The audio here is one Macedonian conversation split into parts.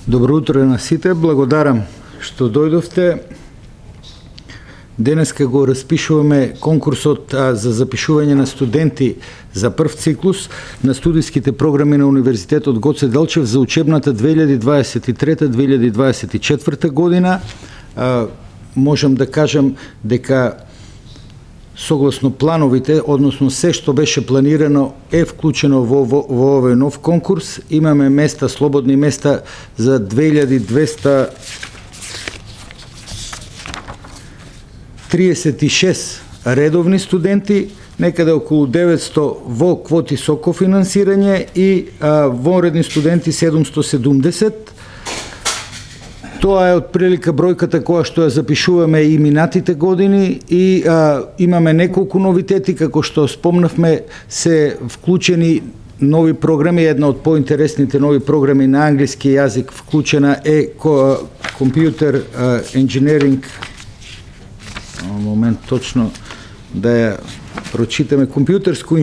Добро утро на сите, благодарам што дојдовте. Денеска го распишуваме конкурсот за запишување на студенти за прв циклус на студиските програми на Универзитетот Гоце Делчев за учебната 2023-2024 година. Можам да кажам дека согласно плановите, односно се што беше планирано е вклучено во овој нов конкурс. Имаме места, слободни места за 2236 редовни студенти, некаде околу 900 во квоти со кофинансирање и вонредни студенти 770. Тоа е отприлика бројката која што ја запишуваме и минатите години и имаме неколку новитети, како што спомнавме, се вклучени нови програми. Една од поинтересните нови програми на англиски јазик вклучена е компјутер енџинеринг. Момент точно да ја прочитаме. Компјутерско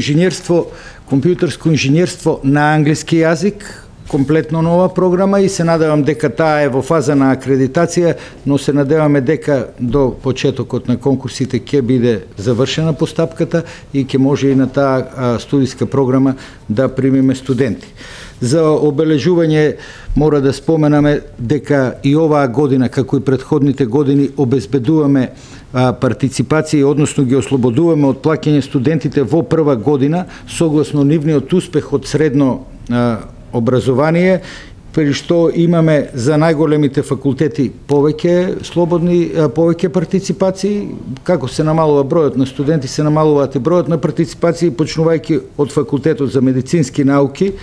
инженерство на англиски јазик, комплетно нова програма и се надевам дека таа е во фаза на акредитација, но се надеваме дека до почетокот на конкурсите ќе биде завршена постапката и ќе може и на таа студиска програма да примиме студенти. За обележување мора да споменаме дека и оваа година, како и претходните години, обезбедуваме партиципација, односно ги ослободуваме од плаќање студентите во прва година, согласно нивниот успех од средно образование, при што имаме за најголемите факултети повеќе партиципации. Како се намалува бројот на студенти, се намалуваат и бројот на партиципации, почнувајќи од факултетот за медицински науки,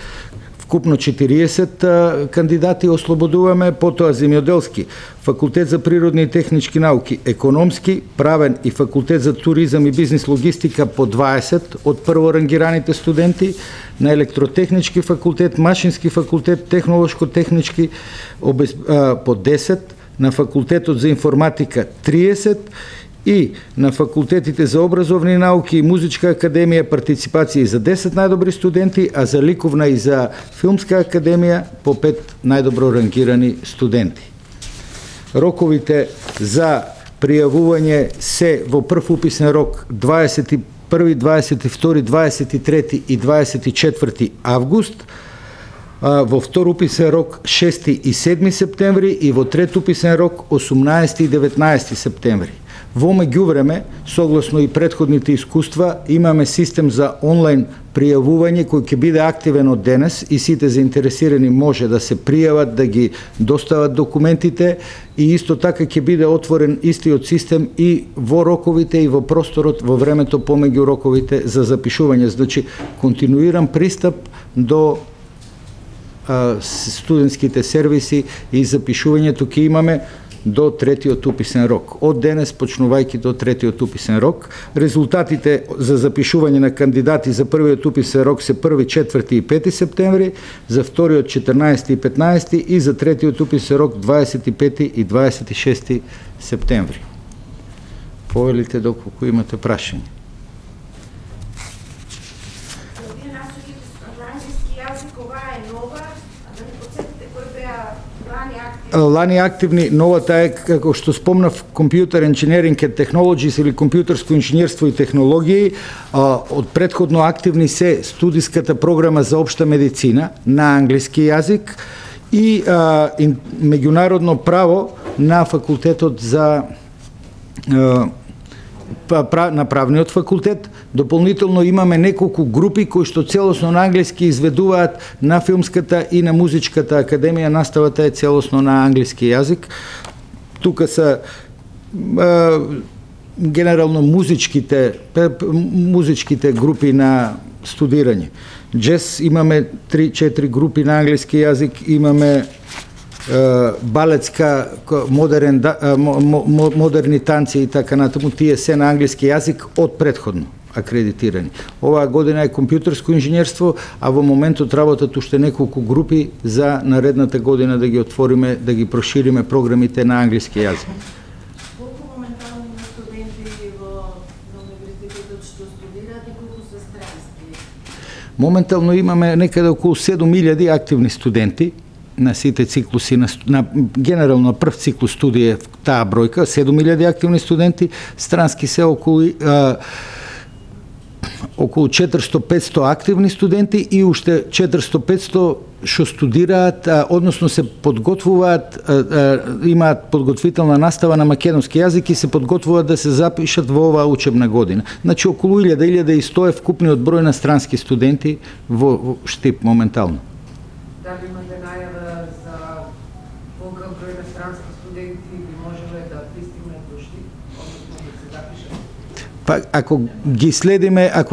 вкупно 40 кандидати ослободуваме, потоа земјоделски, факултет за природни и технички науки, економски, правен и факултет за туризам и бизнис логистика по 20 од прворангираните студенти, на електротехнички факултет, машински факултет, технолошко-технички по 10, на факултетот за информатика 30 и на факултетите за образовни науки и музичка академија партиципација за 10 најдобри студенти, а за ликовна и за филмска академија по 5 најдобро рангирани студенти. Роковите за пријавување се во прв уписен рок 21, 22, 23 и 24 август, во втор уписен рок 6 и 7 септември и во трет уписен рок 18 и 19 септември. Во меѓувреме, согласно и претходните искуства, имаме систем за онлайн пријавување кој ќе биде активен од денес и сите заинтересирани може да се пријават, да ги достават документите и исто така ќе биде отворен истиот систем и во роковите и во просторот во времето помеѓу роковите за запишување. Значи, континуиран пристап до студентските сервиси и запишувањето ќе имаме до третиот уписен рок. Од денес почнувајќи до третиот уписен рок. Резултатите за запишување на кандидати за првиот уписен рок се 1, 4 и 5 септември, за вториот 14 и 15 и за третиот уписен рок 25 и 26 септември. Повелите доколку имате прашање. Лани активни, новата е, како што спомнав, Computer Engineering and Technologies или компјутерско инженерство и технологии. Од предходно активни се студиската програма за општа медицина на англиски јазик и меѓународно право на факултетот за на правниот факултет. Дополнително имаме неколку групи кои што целосно на англиски изведуваат на филмската и на музичката академија. Наставата е целосно на англиски јазик. Тука се генерално музичките групи на студирање. Джез имаме 3-4 групи на англиски јазик, имаме балетска, модерни танци и така натаму, тие се на англиски јазик од претходно акредитирани. Оваа година е компјутерско инженерство, а во моментот работат уште неколку групи за наредната година да ги отвориме, да ги прошириме програмите на англиски јазик. Колку моментално има студенти во универзитетот што студираат и колку се странски? Моментално имаме некаде околу 7000 активни студенти на сите циклуси, на генерално прв циклус студија таа бројка, 7000 активни студенти, странски се околу 400-500 активни студенти и уште 400-500 што студираат, односно се подготвуваат, имаат подготвителна настава на македонски јазик и се подготвуваат да се запишат во оваа учебна година. Значи околу 1000-1100 е вкупниот број на странски студенти во Штип моментално. Дали имате најава за колку број на странски студенти би можеле да пристигнат до Штип, односно да се запишат? Па ако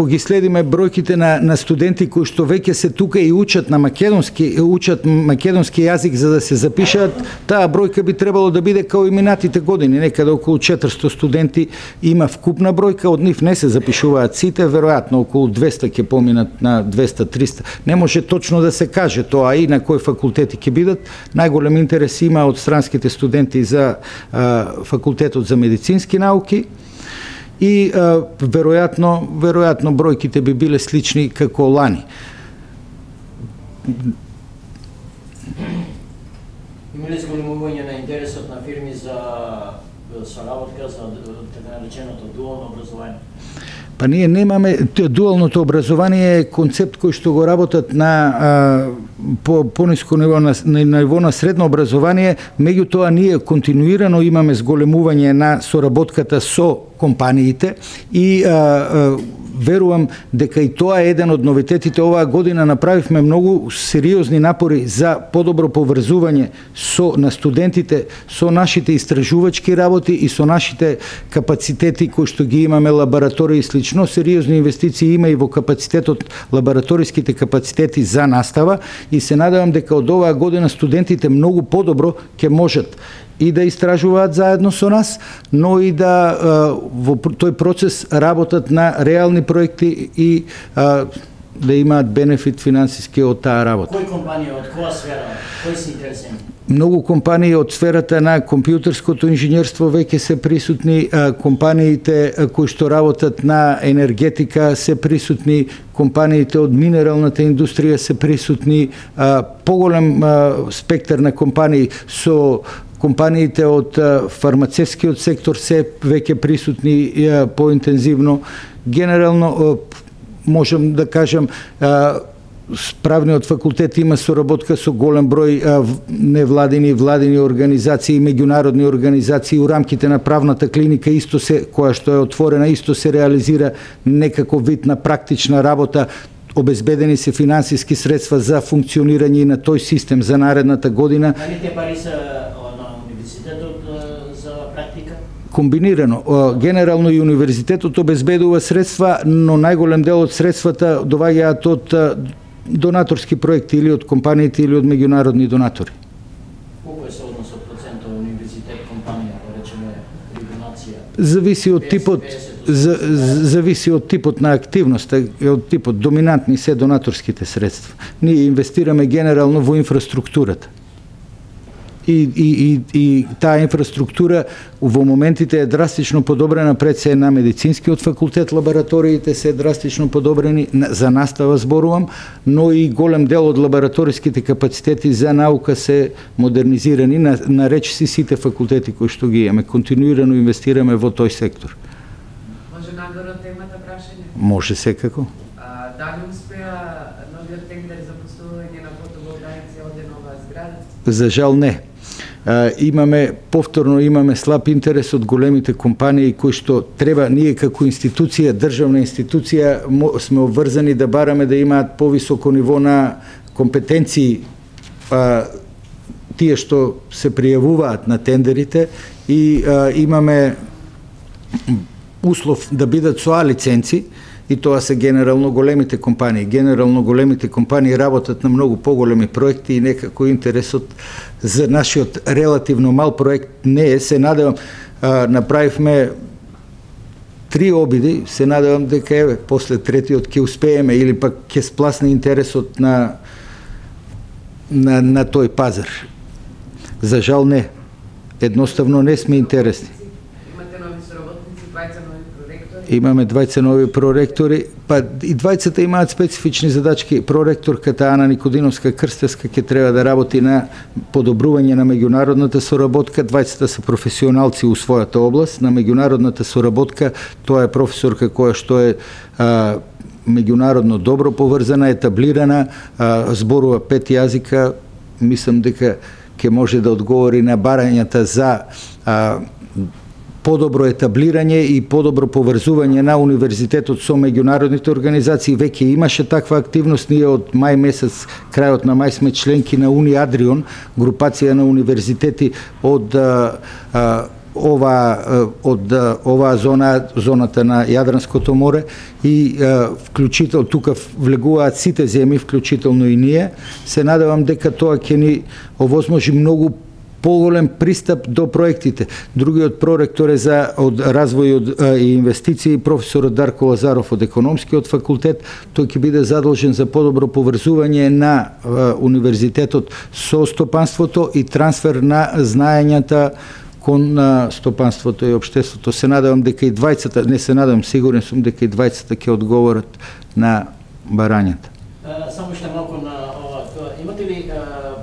ги следиме бројките на студенти кои што веќе се тука и учат македонски јазик за да се запишат, таа бројка би требало да биде као и минатите години, некаде околу 400 студенти има вкупна бројка, од нив не се запишуваат сите, веројатно околу 200 ќе поминат на 200-300. Не може точно да се каже тоа и на кои факултети ќе бидат. Најголем интерес има од странските студенти за факултетот за медицински науки. И веројатно бројките би биле слични како лани. Има ли зголемување на интересот на фирми за соработка за така нареченото дуално образование? Па ние немаме, дуалното образование е концепт кој што го работат на пониско ниво, на ниво на средно образование, меѓутоа ние континуирано имаме зголемување на соработката со компаниите и верувам дека и тоа е еден од новитетите. Оваа година направивме многу сериозни напори за подобро поврзување на студентите со нашите истражувачки работи и со нашите капацитети кои што ги имаме, лаборатории и слично. Сериозни инвестиции има и во капацитетот, лабораториските капацитети за настава и се надевам дека од оваа година студентите многу подобро ќе можат и да истражуваат заедно со нас, но и да во тој процес работат на реални проекти и да имаат бенефит финансиски од таа работа. Кои компании, од која сфера, кои се интересни? Многу компании од сферата на компјутерското инженерство веќе се присутни, компаниите кои што работат на енергетика се присутни, компаниите од минералната индустрија се присутни, поголем спектар на компании со компаниите од фармацевскиот сектор се веќе присутни поинтензивно. Генерално можам да кажам правниот факултет има соработка со голем број невладини и владини организации, меѓународни организации у рамките на правната клиника, исто се која што е отворена, исто се реализира некако вид на практична работа. Обезбедени се финансиски средства за функционирање на тој систем за наредната година. Дали те пари се на универзитетот за практика? Комбинирано. Генерално и универзитетот обезбедува средства, но најголем дел од средствата доаѓаат од донаторски проекти или од компаниите или од меѓународни донатори. Колку е соодносот процентот универзитет компанија, да речеме, при донација? Зависи од типот на активност, од типот доминантни се донаторските средства. Ние инвестираме генерално во инфраструктурата. И таа инфраструктура во моментите е драстично подобрена, пред се на медицинскиот факултет, лабораториите се драстично подобрени, за настава зборувам, но и голем дел од лабораториските капацитети за наука се модернизирани, на речиси сите факултети кои што ги имаме. Континуирано инвестираме во тој сектор. Може надвор од темата прашање? Може секако. Дали успеа новиот тендер за поставување на фотоволтаици од нова зграда? За жал не. Повторно слаб интерес од големите компании кои што треба, ние како институција, државна институција, сме обврзани да бараме да имаат повисоко ниво на компетенции тие што се пријавуваат на тендерите и имаме услов да бидат со А лиценци, и тоа се генерално големите компании. Генерално големите компании работат на многу поголеми проекти и некако интересот за нашиот релативно мал проект не е. Се надевам, направивме 3 обиди, се надевам дека после третиот ќе успееме или пак ќе спласне интересот на тој пазар. За жал не. Едноставно не сме интересни. Имате нови соработници, бајца нови проректори? Имаме двајца нови проректори, па и двајцата имаат специфични задачки. Проректорката Ана Никодиновска Крстевска ќе треба да работи на подобрување на меѓународната соработка. Двајцата се професионалци у својата област. На меѓународната соработка тоа е професорка која што е меѓународно добро поврзана, етаблирана, зборува 5 јазика. Мислам дека ќе може да одговори на барањата за подобро етаблирање и подобро поврзување на универзитетот со меѓународните организации. Веќе имаше таква активност. Ние од мај месец, крајот на мај, сме членки на Уни Адрион, групација на универзитети од оваа зоната на Јадранското море, и вклучително тука влегуваат сите земји, вклучително и ние. Се надевам дека тоа ќе ни овозможи многу поголем пристап до проектите. Другиот проректор е од развој и инвестиции, професорот Дарко Лазаров од економскиот факултет. Тој ќе биде задолжен за подобро поврзување на универзитетот со стопанството и трансфер на знаењата кон стопанството и општеството. Се надевам дека и двајцата, не се надевам, сигурен сум дека и двајцата ќе одговорат на барањата. Само уште малку на ова. Имате ли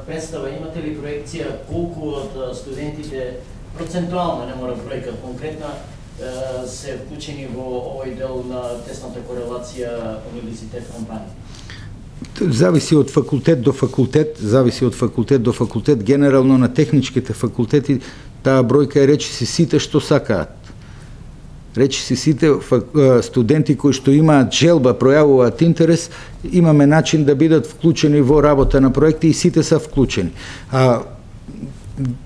представа, имате ли проекција колку од студентите процентуално, не мора бројка конкретна, се вклучени во овој дел на тесната корелација универзитет-компанија? Зависи од факултет до факултет, генерално на техничките факултети таа бројка е речиси сите што сакаат. Речиси сите студенти кои што имаат желба, пројавуваат интерес, имаме начин да бидат вклучени во работа на проекти и сите се вклучени.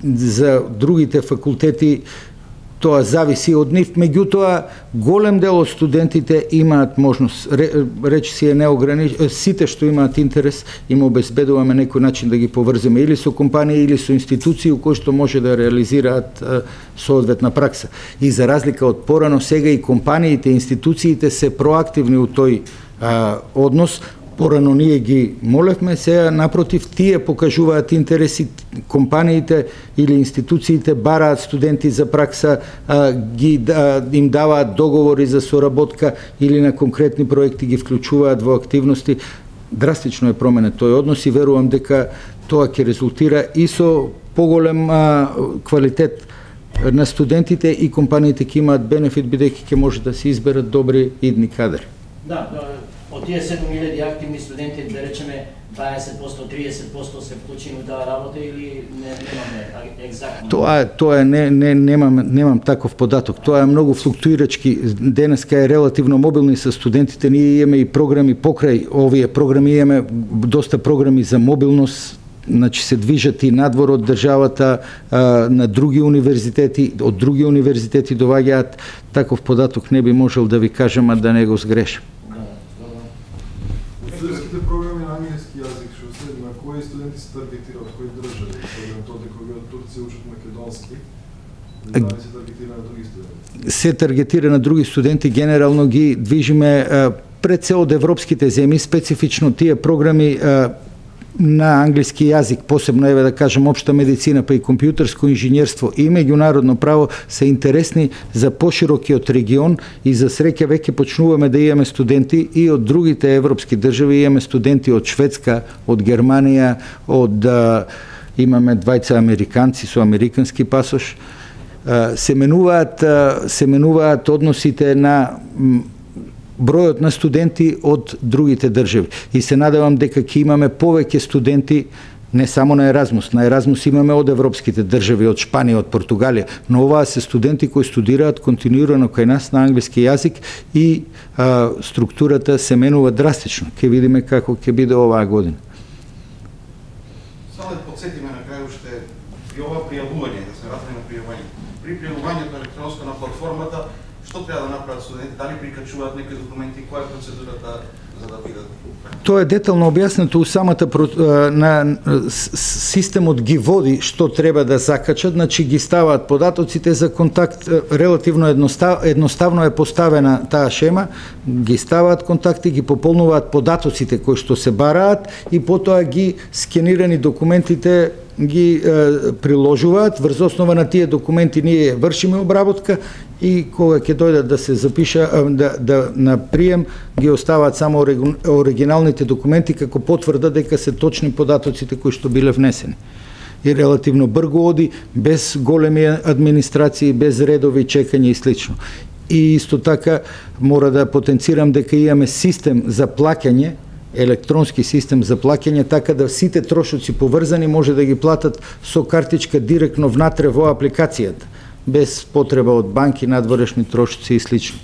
За другите факултети тоа зависи од нив, меѓутоа голем дел од студентите имаат можност, речиси е неограничен, сите што имаат интерес им обезбедуваме некој начин да ги поврземе или со компании или со институции кои што може да реализираат соодветна пракса. И за разлика од порано, сега и компаниите, институциите се проактивни у тој однос. Порано ние ги молевме, сега напротив тие покажуваат интереси, компаниите или институциите бараат студенти за пракса, им даваат договори за соработка или на конкретни проекти ги вклучуваат во активности. Драстично е променет тој однос и верувам дека тоа ќе резултира и со поголем квалитет на студентите и компаниите ќе имаат бенефит бидејќи ќе може да се изберат добри идни кадри. Да, од тие 7000 активни студенти, да речеме 20%, 30% се вклучени во таа работа или немаме екзактно? Тоа немам таков податок. Тоа е многу флуктуирачки. Денеска е релативно мобилни со студентите. Ние имаме и програми покрај овие програми, имаме доста програми за мобилност. Значи се движат и надвор од државата на други универзитети, од други универзитети доаѓаат. Таков податок не би можел да ви кажам, а да не го сгрешам. Студентските програми на англиски јазик, што се на кои студенти се таргетираат, од кои држави? Особено тоа дека кои од Турција учат македонски, дали се таргетира на други студенти? Се таргетира на други студенти, генерално ги движиме пред се од европските земји, специфично тие програми на англиски јазик, посебно еве да кажем општа медицина, па и компјутерско инженерство и меѓународно право се интересни за поширокиот регион и за среќа веќе почнуваме да имаме студенти и од другите европски држави, имаме студенти од Шведска, од Германија, имаме двајца американци со американски пасош. Се менуваат односите на бројот на студенти од другите држави. И се надевам дека ќе имаме повеќе студенти не само на Еразмус. На Еразмус имаме од европските држави, од Шпанија, од Португалија, но оваа се студенти кои студираат континуирано кај нас на англиски јазик и структурата се менува драстично. Ќе видиме како ќе биде оваа година. Само да подсетиме на крај уште и ова пријавување, да се вратиме на пријавување. При пријавувањето електронско на платформата, што треба да направат студенти? Дали прикачуваат некои документи? Која е процедурата за да бидат? Тоа е детално објаснето у самата системот ги води што треба да закачат, значи ги ставаат податоците за контакт, релативно едноставно е поставена таа шема, ги ставаат контакти, ги пополнуваат податоците кои што се бараат и потоа ги скенирани документите ги приложуваат, врз основа на тие документи ние вршиме обработка и кога ќе дојдат да се запиша на прием ги оставаат само оригиналните документи како потврда дека се точни податоците кои што биле внесени. И релативно брзо оди, без големи администрации, без редови, чекање и слично. И исто така мора да потенцирам дека имаме систем за плаќање, електронски систем за плаќање, така да сите трошоци поврзани може да ги платат со картичка директно внатре во апликацијата, без потреба од банки, надворешни трошоци и слично.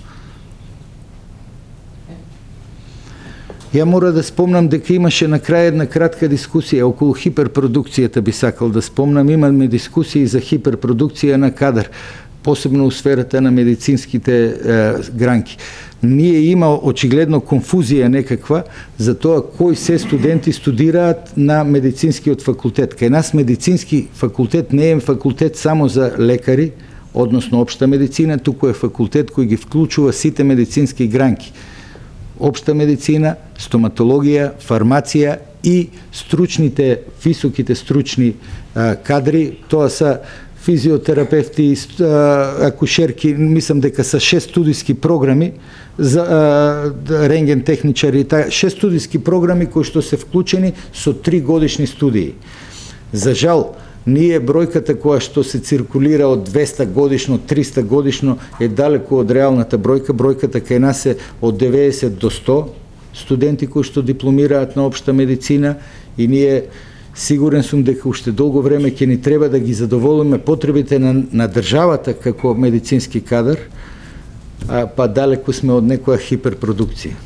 Ја мора да спомнам дека имаше на крај една кратка дискусија околу хиперпродукцијата, би сакал да спомнам. Имаме дискусии за хиперпродукција на кадар, посебно у сферата на медицинските гранки. Ние има очигледно конфузија некаква за тоа кои се студенти студираат на медицинскиот факултет. Кај нас медицински факултет не е факултет само за лекари, односно општа медицина, туку е факултет кој ги вклучува сите медицински гранки. Општа медицина, стоматологија, фармација и стручните, високите стручни кадри, тоа се физиотерапевти, акушерки, мислам дека са 6 студиски програми за рентген техничари, 6 студиски програми кои што се вклучени со 3 годишни студии. За жал, ние бројката која што се циркулира од 200 годишно, 300 годишно е далеку од реалната бројка. Бројката кај нас е од 90 до 100 студенти кои што дипломираат на општа медицина и ние сигурен сум дека уште долго време ќе ни треба да ги задоволиме потребите на државата како медицински кадар, па далеку сме од некоја хиперпродукција.